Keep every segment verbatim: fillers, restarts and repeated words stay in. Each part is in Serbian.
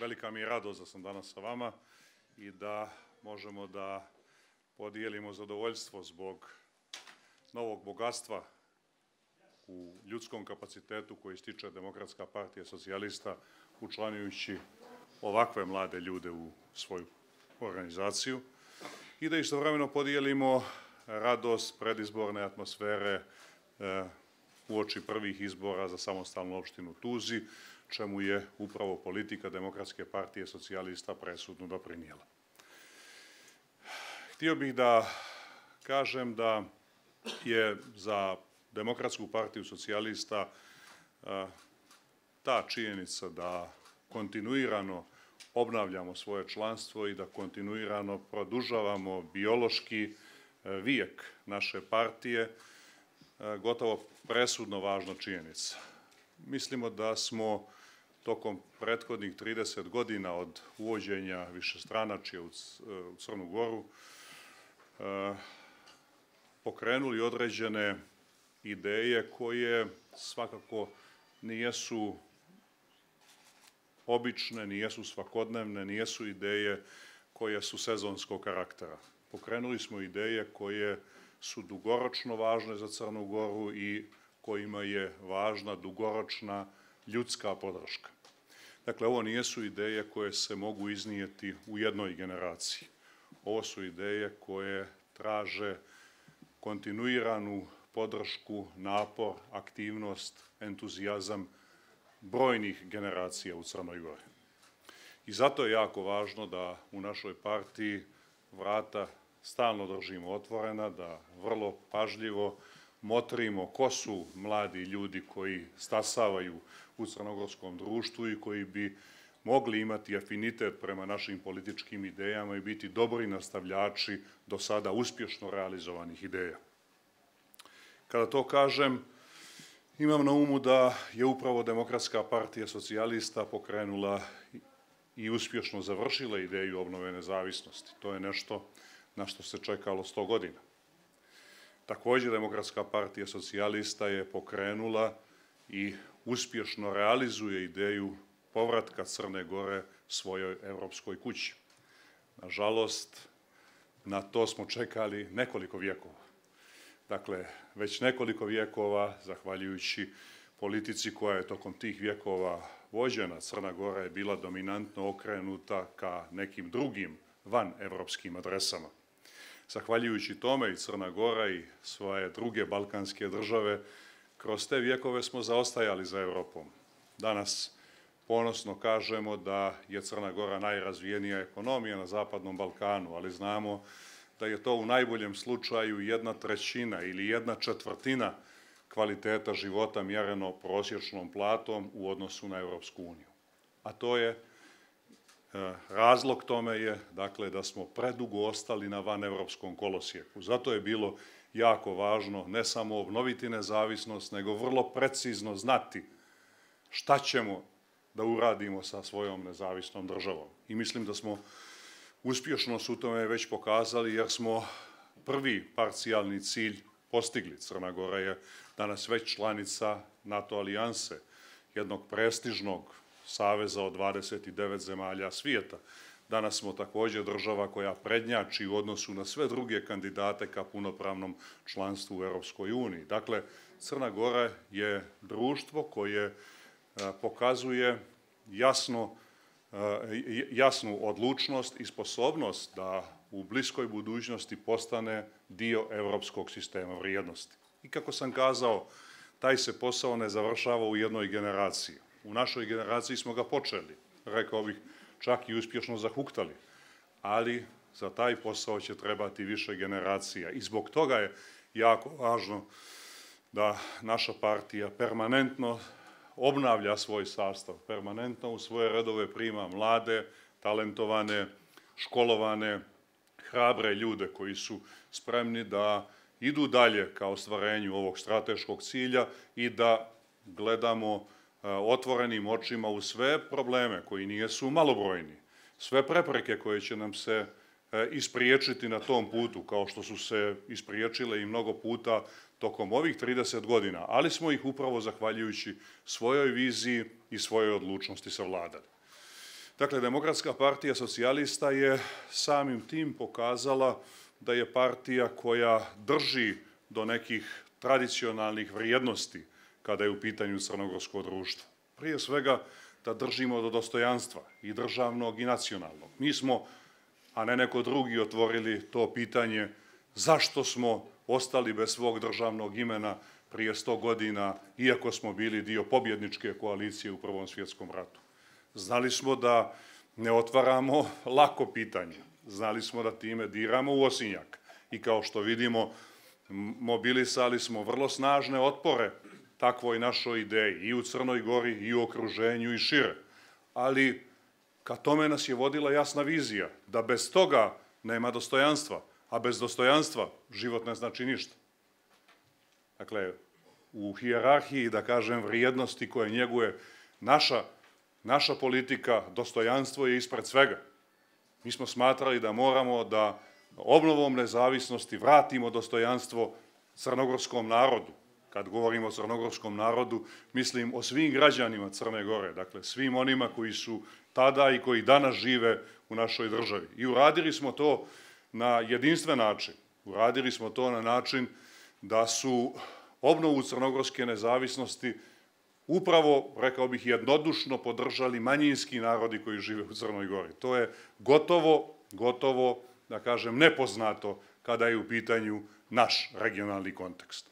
velika mi je radost da sam danas sa vama i da možemo da podijelimo zadovoljstvo zbog novog bogatstva u ljudskom kapacitetu koji stiče Demokratska partija socijalista učlanjujući ovakve mlade ljude u svoju organizaciju i da istovremeno podijelimo radost predizborne atmosfere uoči prvih izbora za samostalnu opštinu Tuzi, čemu je upravo politika Demokratske partije socijalista presudno doprinijela. Htio bih da kažem da je za Demokratsku partiju socijalista ta činjenica da kontinuirano obnavljamo svoje članstvo i da kontinuirano produžavamo biološki vijek naše partije gotovo presudno važna činjenica. Mislimo da smo tokom prethodnih trideset godina od uvođenja višestranačja u Crnu Goru pokrenuli određene ideje koje svakako nijesu obične, nijesu svakodnevne, nijesu ideje koje su sezonskog karaktera. Pokrenuli smo ideje koje su dugoročno važne za Crnu Goru i kojima je važna dugoročna ljudska podrška. Dakle, ovo nijesu ideje koje se mogu iznijeti u jednoj generaciji. Ovo su ideje koje traže kontinuiranu podršku, napor, aktivnost, entuzijazam brojnih generacija u Crnoj Gori. I zato je jako važno da u našoj partiji vrata stalno držimo otvorena, da vrlo pažljivo motrimo ko su mladi ljudi koji stasavaju u crnogorskom društvu i koji bi mogli imati afinitet prema našim političkim idejama i biti dobri nastavljači do sada uspješno realizovanih ideja. Kada to kažem, imam na umu da je upravo Demokratska partija socijalista pokrenula i uspješno završila ideju obnove nezavisnosti. To je nešto na što se čekalo sto godina. Također, Demokratska partija socijalista je pokrenula i uspješno realizuje ideju povratka Crne Gore svojoj evropskoj kući. Nažalost, na to smo čekali nekoliko vjekova. Dakle, već nekoliko vjekova, zahvaljujući politici koja je tokom tih vjekova vođena, Crna Gora je bila dominantno okrenuta ka nekim drugim vanevropskim adresama. Zahvaljujući tome i Crna Gora i svoje druge balkanske države, kroz te vjekove smo zaostajali za Evropom. Danas ponosno kažemo da je Crna Gora najrazvijenija ekonomija na Zapadnom Balkanu, ali znamo da je to u najboljem slučaju jedna trećina ili jedna četvrtina kvaliteta života mjereno prosječnom platom u odnosu na Evropsku uniju. A to je, razlog tome je, dakle, da smo predugo ostali na vanevropskom kolosijeku. Zato je bilo jako važno ne samo obnoviti nezavisnost, nego vrlo precizno znati šta ćemo da uradimo sa svojom nezavisnom državom. I mislim da smo uspješnost u tome već pokazali jer smo prvi parcijalni cilj postigli. Crna Gora je danas već članica NATO alijanse, jednog prestižnog saveza od dvadeset devet zemalja svijeta. Danas smo također država koja prednjači u odnosu na sve druge kandidate ka punopravnom članstvu u Europskoj uniji. Dakle, Crna Gora je društvo koje pokazuje jasno jasnu odlučnost i sposobnost da u bliskoj budućnosti postane dio evropskog sistema vrijednosti. I kako sam kazao, taj se posao ne završava u jednoj generaciji. U našoj generaciji smo ga počeli, rekao bih, čak i uspješno zahuktali, ali za taj posao će trebati više generacija. I zbog toga je jako važno da naša partija permanentno obnavlja svoj sastav, permanentno u svoje redove prima mlade, talentovane, školovane, hrabre ljude koji su spremni da idu dalje ka ostvarenju ovog strateškog cilja i da gledamo otvorenim očima u sve probleme koji nijesu malobrojni, sve prepreke koje će nam se ispriječiti na tom putu, kao što su se ispriječile i mnogo puta tokom ovih trideset godina, ali smo ih upravo zahvaljujući svojoj viziji i svojoj odlučnosti savladali. Dakle, Demokratska partija socijalista je samim tim pokazala da je partija koja drži do nekih tradicionalnih vrijednosti kada je u pitanju crnogorsko društvo. Prije svega da držimo do dostojanstva i državnog i nacionalnog. Mi smo, a ne neko drugi, otvorili to pitanje zašto smo ostali bez svog državnog imena prije sto godina, iako smo bili dio pobjedničke koalicije u Prvom svjetskom ratu. Znali smo da ne otvaramo lako pitanje. Znali smo da time diramo u osinjak. I kao što vidimo, mobilisali smo vrlo snažne otpore takvoj našoj ideji i u Crnoj Gori, i u okruženju, i šire. Ali ka tome nas je vodila jasna vizija, da bez toga nema dostojanstva, a bez dostojanstva život ne znači ništa. Dakle, u hijerarhiji, da kažem, vrijednosti koje njeguje naša, naša politika, dostojanstvo je ispred svega. Mi smo smatrali da moramo da obnovom nezavisnosti vratimo dostojanstvo crnogorskom narodu. Kad govorimo o crnogorskom narodu, mislim o svim građanima Crne Gore, dakle svim onima koji su tada i koji danas žive u našoj državi. I uradili smo to na jedinstven način. Uradili smo to na način da su obnovu crnogorske nezavisnosti upravo, rekao bih, jednodušno podržali manjinski narodi koji žive u Crnoj Gori. To je gotovo, gotovo, da kažem, nepoznato kada je u pitanju naš regionalni kontekst.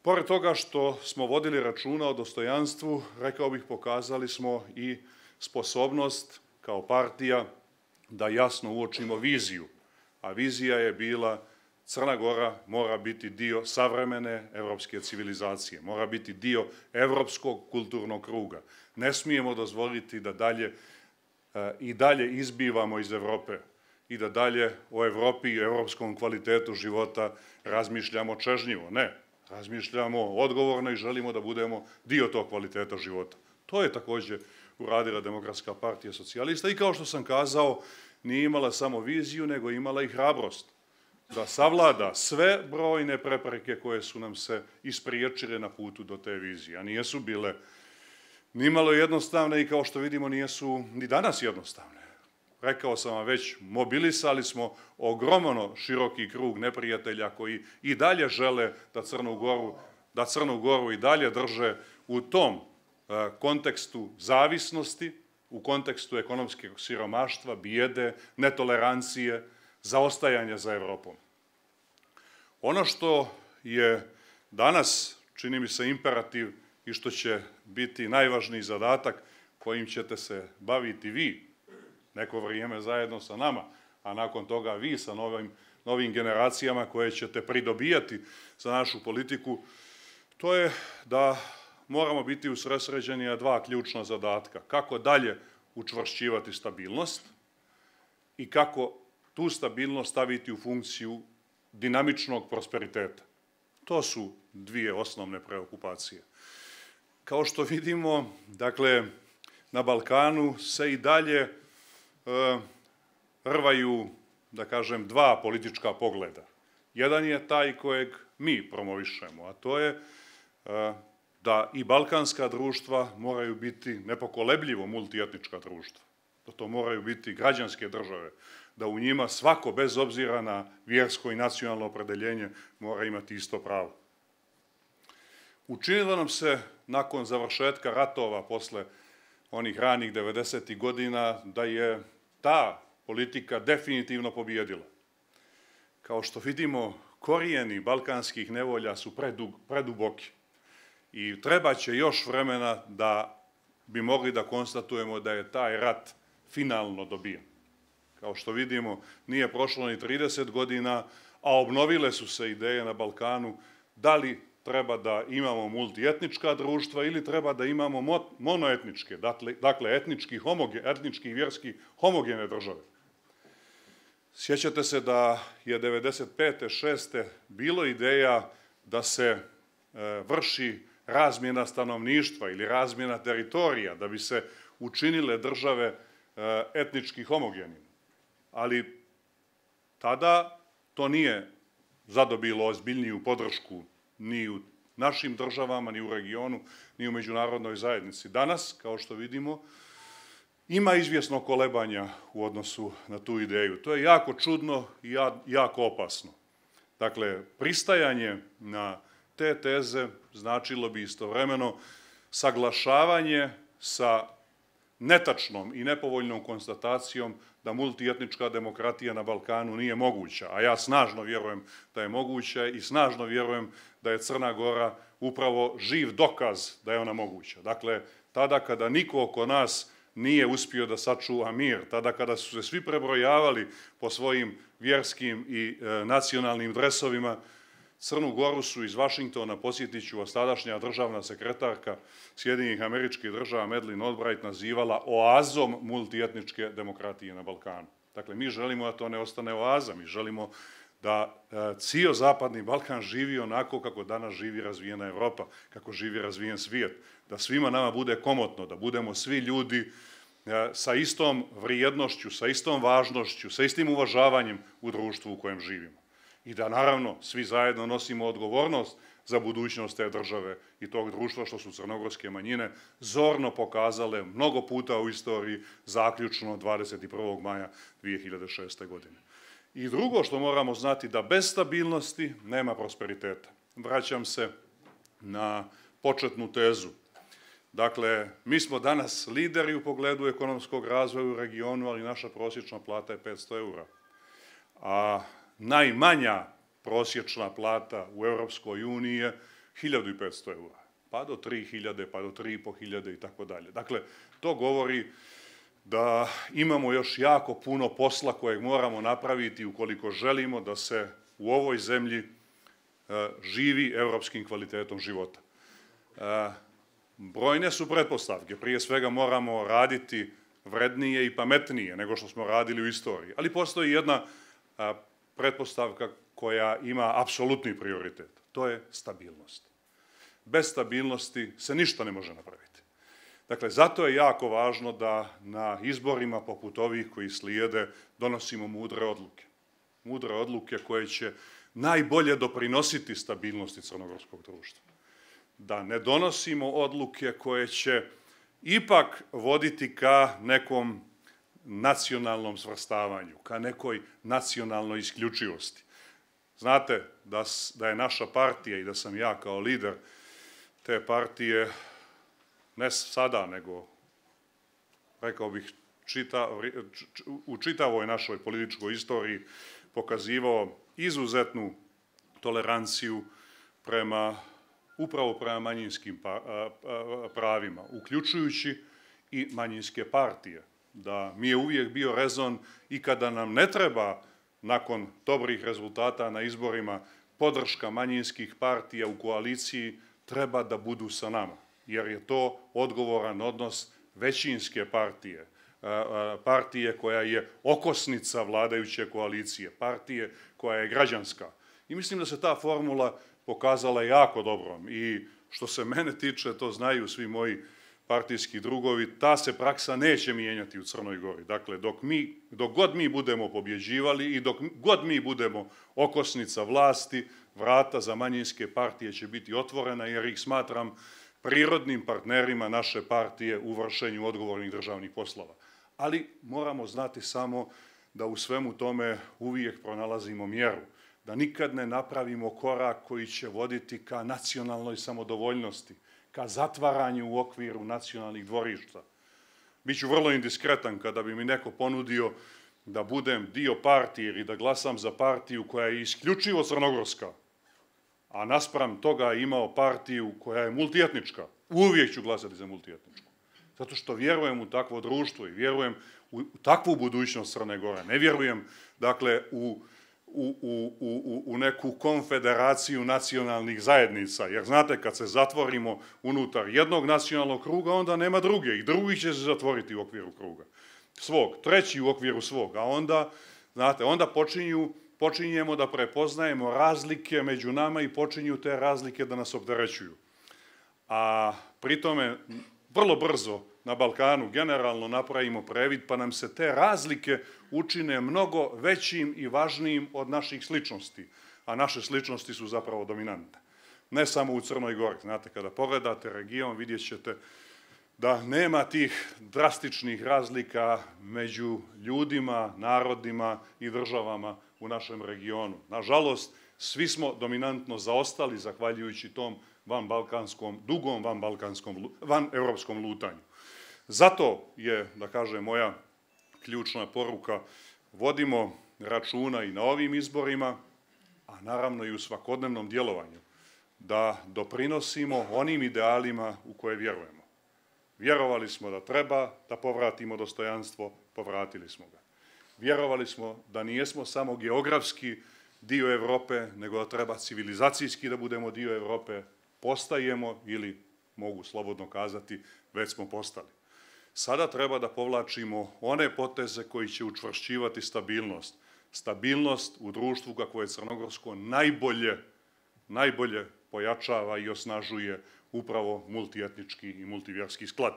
Pored toga što smo vodili računa o dostojanstvu, rekao bih, pokazali smo i sposobnost kao partija da jasno uočimo viziju, a vizija je bila Crna Gora mora biti dio savremene evropske civilizacije, mora biti dio evropskog kulturnog kruga. Ne smijemo dozvoliti da dalje i dalje izbivamo iz Evrope i da dalje o Evropi i evropskom kvalitetu života razmišljamo čežnjivo. Ne, razmišljamo odgovorno i želimo da budemo dio tog kvaliteta života. To je također uradila Demokratska partija socijalista i kao što sam kazao, nije imala samo viziju, nego imala i hrabrost da savlada sve brojne prepreke koje su nam se ispriječile na putu do te vizije, a nijesu bile nimalo jednostavne i kao što vidimo nijesu ni danas jednostavne. Rekao sam vam već, mobilisali smo ogromno široki krug neprijatelja koji i dalje žele da Crnu Goru, da Crnu Goru i dalje drže u tom kontekstu zavisnosti, u kontekstu ekonomskog siromaštva, bijede, netolerancije, zaostajanja za Evropom. Ono što je danas, čini mi se, imperativ i što će biti najvažniji zadatak kojim ćete se baviti vi neko vrijeme zajedno sa nama, a nakon toga vi sa novim, novim generacijama koje ćete pridobijati za našu politiku, to je da moramo biti usredsređeni na dva ključna zadatka. Kako dalje učvršćivati stabilnost i kako tu stabilnost staviti u funkciju dinamičnog prosperiteta. To su dvije osnovne preokupacije. Kao što vidimo, dakle, na Balkanu se i dalje e, rvaju, da kažem, dva politička pogleda. Jedan je taj kojeg mi promovišemo, a to je e, da i balkanska društva moraju biti nepokolebljivo multietnička društva. Da to moraju biti građanske države, da u njima svako, bez obzira na vjersko i nacionalno opredeljenje, mora imati isto pravo. Učinilo nam se, nakon završetka ratova, posle onih ranih devedesetih godina, da je ta politika definitivno pobjedila. Kao što vidimo, korijeni balkanskih nevolja su preduboki i treba će još vremena da bi mogli da konstatujemo da je taj rat finalno dobijen. Kao što vidimo, nije prošlo ni trideset godina, a obnovile su se ideje na Balkanu da li treba da imamo multietnička društva ili treba da imamo monoetničke, dakle etnički, etnički i vjerski homogene države. Sjećate se da je devedeset pete šeste bilo ideja da se vrši razmjena stanovništva ili razmjena teritorija, da bi se učinile države etnički homogenim. Ali tada to nije zadobilo ozbiljniju podršku ni u našim državama, ni u regionu, ni u međunarodnoj zajednici. Danas, kao što vidimo, ima izvjesno kolebanja u odnosu na tu ideju. To je jako čudno i jako opasno. Dakle, pristajanje na te teze značilo bi istovremeno saglašavanje sa netačnom i nepovoljnom konstatacijom da multietnička demokratija na Balkanu nije moguća, a ja snažno vjerujem da je moguća i snažno vjerujem da je Crna Gora upravo živ dokaz da je ona moguća. Dakle, tada kada niko oko nas nije uspio da sačuva mir, tada kada su se svi prebrojavali po svojim vjerskim i e, nacionalnim dresovima, Crnu Goru su iz Vašingtona, posjetit ću vas, tadašnja državna sekretarka Sjedinjenih Američkih Država Madeleine Albright nazivala oazom multietničke demokratije na Balkanu. Dakle, mi želimo da to ne ostane oaza, mi želimo da e, cijel zapadni Balkan živi onako kako danas živi razvijena Evropa, kako živi razvijen svijet, da svima nama bude komotno, da budemo svi ljudi e, sa istom vrijednošću, sa istom važnošću, sa istim uvažavanjem u društvu u kojem živimo. I da, naravno, svi zajedno nosimo odgovornost za budućnost te države i tog društva, što su crnogorske manjine zorno pokazale mnogo puta u istoriji, zaključno dvadeset prvog maja dvije hiljade šeste. godine. I drugo što moramo znati, da bez stabilnosti nema prosperiteta. Vraćam se na početnu tezu. Dakle, mi smo danas lideri u pogledu ekonomskog razvoja u regionu, ali naša prosječna plata je petsto eura. A najmanja prosječna plata u Europskoj uniji je hiljadu petsto eura, pa do tri hiljade, pa do tri i po hiljade i tako dalje. Dakle, to govori da imamo još jako puno posla kojeg moramo napraviti ukoliko želimo da se u ovoj zemlji živi europskim kvalitetom života. Brojne su pretpostavke, prije svega moramo raditi vrednije i pametnije nego što smo radili u istoriji, ali postoji jedna pretpostavka koja ima apsolutni prioritet. To je stabilnost. Bez stabilnosti se ništa ne može napraviti. Dakle, zato je jako važno da na izborima poput ovih koji slijede donosimo mudre odluke. Mudre odluke koje će najbolje doprinositi stabilnosti crnogorskog društva. Da ne donosimo odluke koje će ipak voditi ka nekom nacionalnom svrstavanju, ka nekoj nacionalnoj isključivosti. Znate da, da je naša partija i da sam ja kao lider te partije ne sada, nego rekao bih čita, u čitavoj našoj političkoj istoriji pokazivao izuzetnu toleranciju prema, upravo prema manjinskim pravima, uključujući i manjinske partije. Da mi je uvijek bio rezon i kada nam ne treba nakon dobrih rezultata na izborima podrška manjinskih partija u koaliciji, treba da budu sa nama, jer je to odgovoran odnos većinske partije, partije koja je okosnica vladajuće koalicije, partije koja je građanska. I mislim da se ta formula pokazala jako dobrom i što se mene tiče, to znaju svi moji partijski drugovi, ta se praksa neće mijenjati u Crnoj Gori. Dakle, dok, mi, dok god mi budemo pobjeđivali i dok god mi budemo okosnica vlasti, vrata za manjinske partije će biti otvorena, jer ih smatram prirodnim partnerima naše partije u vršenju odgovornih državnih poslova. Ali moramo znati samo da u svemu tome uvijek pronalazimo mjeru, da nikad ne napravimo korak koji će voditi ka nacionalnoj samodovoljnosti, ka zatvaranju u okviru nacionalnih dvorišta. Biću vrlo indiskretan kada bi mi neko ponudio da budem dio partije ili da glasam za partiju koja je isključivo crnogorska, a naspram toga imao partiju koja je multietnička, uvijek ću glasati za multietničku. Zato što vjerujem u takvo društvo i vjerujem u takvu budućnost Crne Gore. Ne vjerujem, dakle, u U, u, u, u neku konfederaciju nacionalnih zajednica, jer znate, kad se zatvorimo unutar jednog nacionalnog kruga, onda nema druge i drugi će se zatvoriti u okviru kruga svog, treći u okviru svog, a onda, znate, onda počinju, počinjemo da prepoznajemo razlike među nama i počinju te razlike da nas opterećuju. A pritome, vrlo brzo na Balkanu generalno napravimo previd, pa nam se te razlike učine mnogo većim i važnijim od naših sličnosti, a naše sličnosti su zapravo dominantne. Ne samo u Crnoj Gori. Znate, kada pogledate region, vidjet ćete da nema tih drastičnih razlika među ljudima, narodima i državama u našem regionu. Nažalost, svi smo dominantno zaostali zahvaljujući tom vanbalkanskom, dugom vanbalkanskom, vanevropskom lutanju. Zato je, da kažem, moja ključna poruka, vodimo računa i na ovim izborima, a naravno i u svakodnevnom djelovanju, da doprinosimo onim idealima u koje vjerujemo. Vjerovali smo da treba da povratimo dostojanstvo, povratili smo ga. Vjerovali smo da nijesmo samo geografski dio Evrope, nego da treba civilizacijski da budemo dio Evrope, postajemo ili, mogu slobodno kazati, već smo postali. Sada treba da povlačimo one poteze koji će učvršćivati stabilnost. Stabilnost u društvu kako je crnogorsko najbolje, najbolje pojačava i osnažuje upravo multietnički i multivjerski sklad.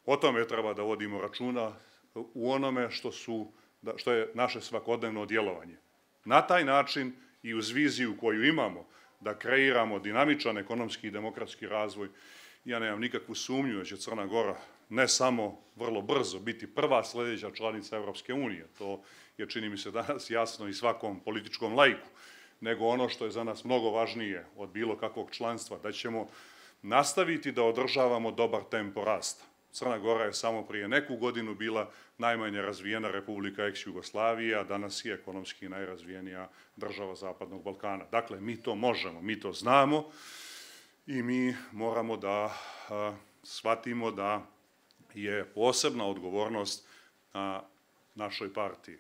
O tome treba da vodimo računa u onome što, su, što je naše svakodnevno djelovanje. Na taj način i uz viziju koju imamo da kreiramo dinamičan ekonomski i demokratski razvoj, ja nemam nikakvu sumnju da će Crna Gora ne samo vrlo brzo biti prva sljedeća članica Evropske unije, to je, čini mi se, danas jasno i svakom političkom laiku, nego ono što je za nas mnogo važnije od bilo kakvog članstva, da ćemo nastaviti da održavamo dobar tempo rasta. Crna Gora je samo prije neku godinu bila najmanje razvijena republika ex-Jugoslavije, a danas je ekonomski najrazvijenija država Zapadnog Balkana. Dakle, mi to možemo, mi to znamo i mi moramo da a, shvatimo da je posebna odgovornost na našoj partiji.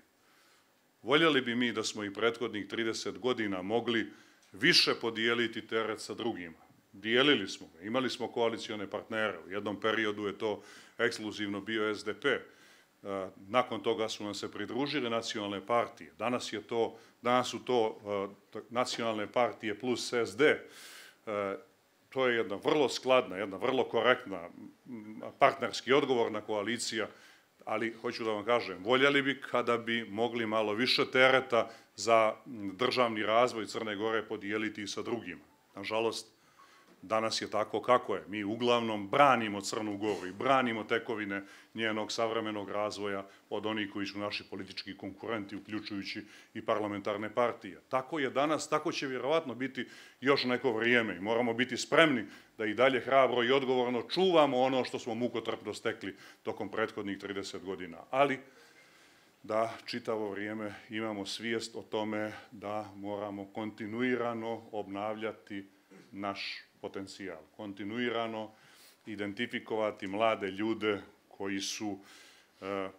Voljeli bi mi da smo i prethodnih trideset godina mogli više podijeliti teret sa drugima. Dijelili smo ga, imali smo koalicione partnere, u jednom periodu je to ekskluzivno bio S D P, nakon toga su nam se pridružile nacionalne partije, danas, je to, danas su to nacionalne partije plus S D, to je jedna vrlo skladna, jedna vrlo korektna, partnerski odgovorna koalicija, ali hoću da vam kažem, voljeli bi kada bi mogli malo više tereta za državni razvoj Crne Gore podijeliti i sa drugima. Nažalost, danas je tako kako je. Mi uglavnom branimo Crnu Goru i branimo tekovine njenog savremenog razvoja od onih koji su naši politički konkurenti, uključujući i parlamentarne partije. Tako je danas, tako će vjerovatno biti još neko vrijeme i moramo biti spremni da i dalje hrabro i odgovorno čuvamo ono što smo mukotrpno stekli tokom prethodnih trideset godina. Ali da čitavo vrijeme imamo svijest o tome da moramo kontinuirano obnavljati naš potencijal, kontinuirano identifikovati mlade ljude koji su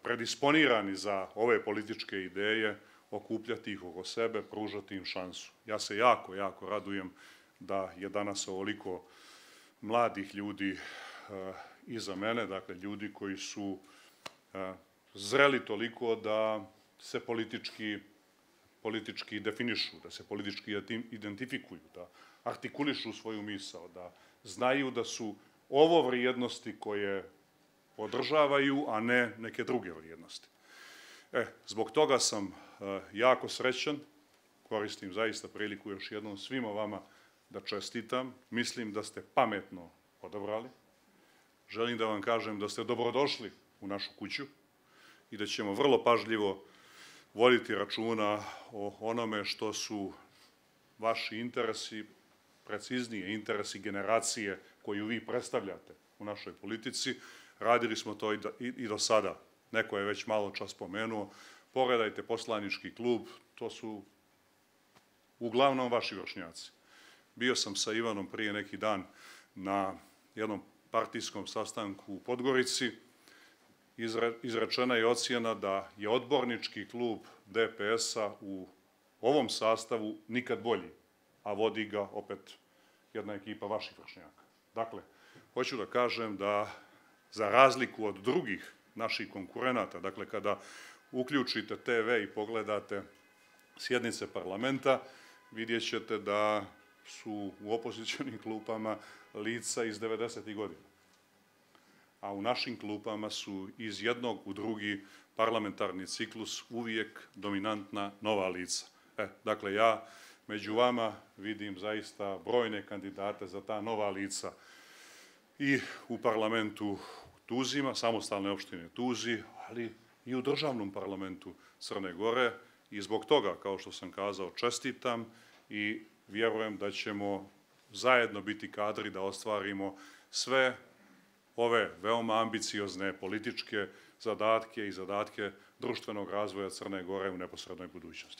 predisponirani za ove političke ideje, okupljati ih oko sebe, pružati im šansu. Ja se jako, jako radujem da je danas ovoliko mladih ljudi iza mene, dakle ljudi koji su zreli toliko da se politički, politički definišu, da se politički identifikuju, da artikulišu svoju misao, da znaju da su ovo vrijednosti koje podržavaju, a ne neke druge vrijednosti. E, zbog toga sam e, jako srećan, koristim zaista priliku još jednom svima vama da čestitam, mislim da ste pametno odabrali, želim da vam kažem da ste dobrodošli u našu kuću i da ćemo vrlo pažljivo voditi računa o onome što su vaši interesi, preciznije interesi generacije koju vi predstavljate u našoj politici. Radili smo to i do sada. Neko je već malo čas spomenuo. Pogledajte poslanički klub, to su uglavnom vaši vršnjaci. Bio sam sa Ivanom prije neki dan na jednom partijskom sastanku u Podgorici. Izrečena je ocjena da je odbornički klub D P S-a u ovom sastavu nikad bolji, a vodi ga opet jedna ekipa vaših vršnjaka. Dakle, hoću da kažem da za razliku od drugih naših konkurenata, dakle kada uključite T V i pogledate sjednice parlamenta, vidjet ćete da su u opozicionim klupama lica iz devedesetih godina. A u našim klupama su iz jednog u drugi parlamentarni ciklus uvijek dominantna nova lica. E, dakle, ja među vama vidim zaista brojne kandidate za ta nova lica i u parlamentu Tuzima, samostalne opštine Tuzi, ali i u državnom parlamentu Crne Gore i zbog toga, kao što sam kazao, čestitam i vjerujem da ćemo zajedno biti kadri da ostvarimo sve ove veoma ambiciozne političke zadatke i zadatke društvenog razvoja Crne Gore u neposrednoj budućnosti.